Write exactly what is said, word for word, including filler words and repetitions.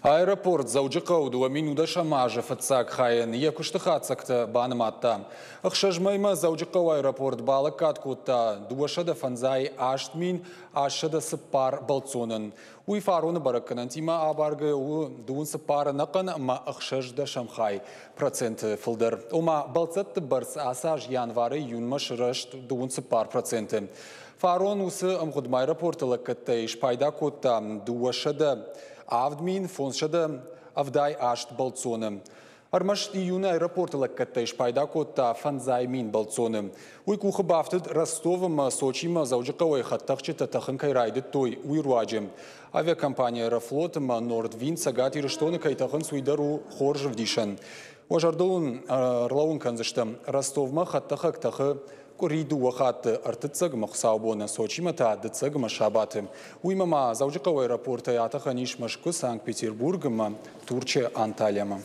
Аэропорт Дзӕуджыхъӕуы дыууӕ мин нудӕсӕм азы фыццаг хайӕн йӕ куысты хатдзӕгтӕ банымадта. Ӕхсӕз мӕймӕ Дзӕуджыхъӕуы аэропорт балӕггад кодта дыууӕсӕдӕ фӕндзай аст мин астсӕдӕ цыппар бӕлццонӕн. Уый фароны бӕрӕггӕнӕнтимӕ абаргӕ у дыууын цыппар ӕнӕхъӕн ӕмӕ ӕхсӕз дӕсӕм хай проценты фылдӕр. Ома бӕлццӕтты бӕрц ацы аз январӕй июнмӕ сырӕзт дыууын цыппар проценты. Фарон уыцы ӕмгъуыдмӕ аэропорты лӕггӕдтӕй спайда кодта дыууӕсӕдӕ авд мин фондзсӕдӕ ӕвдай аст бӕлццоны. Ӕрмӕст июны аэропорты лӕггӕдтӕй спайда кодта фӕндзай мин бӕлццоны. Уый къухы бафтыд Ростов ӕмӕ Сочимӕ Дзӕуджыхъӕуӕй хӕдтӕхджытӕ тӕхын кӕй райдыдтой, уый руаджы. Авиакомпани Аэрофлот ӕмӕ Нордвинд Цӕгат Ирыстоны кӕй тӕхынц, уый дӕр у хорз ӕвдисӕн. Уӕ зӕрдыл уын ӕрлӕууын кӕндзыстӕм, Ростовмӕ хӕдтӕхӕг тӕхы къуыри дыууӕ хатты, ӕртыццӕгмӕ хуыцаубоны, Сочимӕ та дыццӕгмӕ сабаты. Уыимӕ ма Дзӕуджыхъӕуы аэропортӕй атӕхӕн ис Мӕскуы, Санкт-Петербург ӕмӕ Турчы Анталиямӕ.